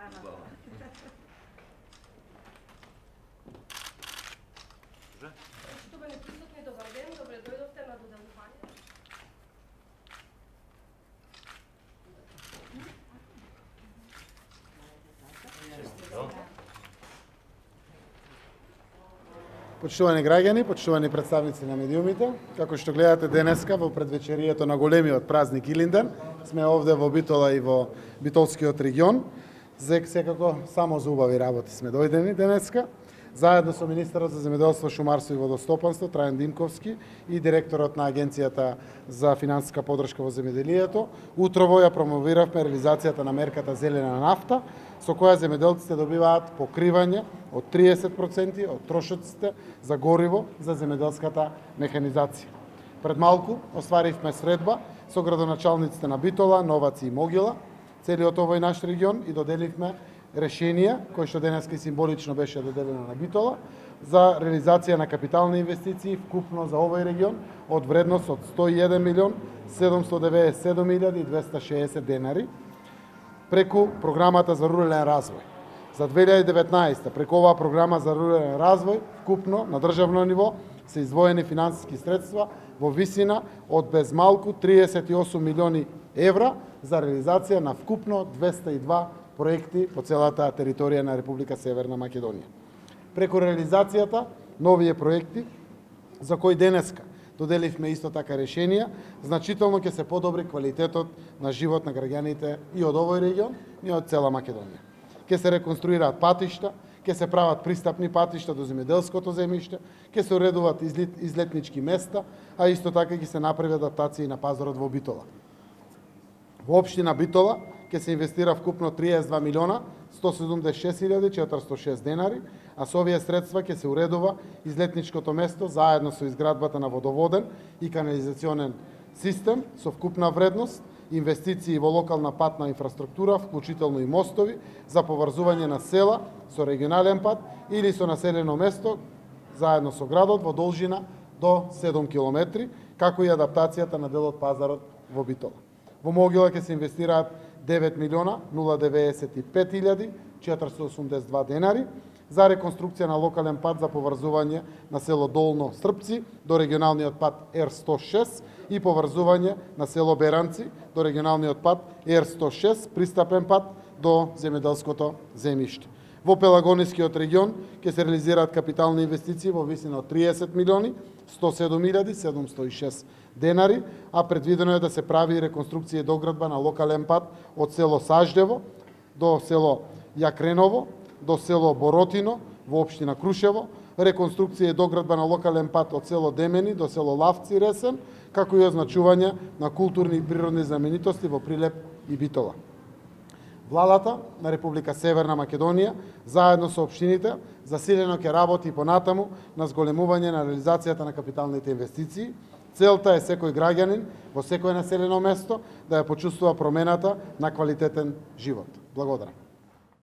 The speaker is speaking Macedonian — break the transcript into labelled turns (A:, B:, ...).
A: Ана. Почитувани присутни, добар ден, добре дојдовте на доделување.
B: Почитувани граѓани, почитувани представници на медиумите, како што гледате денеска во предвечерието на големиот празник Илинден, сме овде во Битола и во Битолскиот регион. Секако само за убави работи сме дојдени денеска, заедно со министерот за земјоделство, шумарство и водостопанство Трајан Димковски и директорот на Агенцијата за финансиска поддршка во земјоделието. Утрово ја промовиравме реализацијата на мерката Зелена нафта, со која земјоделците добиваат покривање од 30% од трошоците за гориво за земјоделската механизација. Пред малку остваривме средба со градоначалниците на Битола, Новаци и Могила, целиот овој наш регион, и доделивме решенија, кој што денеска и символично беше доделено на Битола, за реализација на капитални инвестиции вкупно за овој регион од вредност од 101.797.260 денари, преку програмата за рурален развој. За 2019 преку оваа програма за рурален развој вкупно на државно ниво се издвоени финансиски средства во висина од без малку 38 милиони евра за реализација на вкупно 202 проекти по целата територија на Република Северна Македонија. Преку реализацијата на овие проекти, за кои денеска доделивме исто така решенија, значително ќе се подобри квалитетот на живот на граѓаните и од овој регион, и од цела Македонија. Ќе се реконструираат патишта, ќе се прават пристапни патишта до земјоделското земјиште, ќе се уредуваат излетнички места, а исто така ќе се направи адаптација на пазарот во Битола. Во општина Битола ќе се инвестира вкупно 32 милиона 176.406 денари, а со овие средства ќе се уредува излетничкото место заедно со изградбата на водоводен и канализационен систем со вкупна вредност, инвестиции во локална патна инфраструктура, вклучително и мостови, за поврзување на села со регионален пат или со населено место заедно со градот во должина до 7 километри, како и адаптацијата на делот пазарот во Битола. Во Могила ќе се инвестираат 9 милиона 095.482 денари за реконструкција на локален пат за поврзување на село Долно Српци до регионалниот пат Р106 и поврзување на село Беранци до регионалниот пат Р106, пристапен пат до земјоделското земјиште. Во Пелагонискиот регион ќе се реализираат капитални инвестиции во висина од 30 милиони 107.706 денари, а предвидено е да се прави реконструкција и доградба на локален пат од село Саждево до село Јакреново, до село Боротино во општина Крушево, реконструкција и доградба на локален пат од село Демени до село Лавци Ресен, како и означување на културни и природни знаменитости во Прилеп и Битола. Владата на Република Северна Македонија, заедно со општините, засилено ќе работи понатаму на зголемување на реализацијата на капиталните инвестиции. Целта е секој граѓанин во секое населено место да ја почувствува промената на квалитетен живот. Благодарам.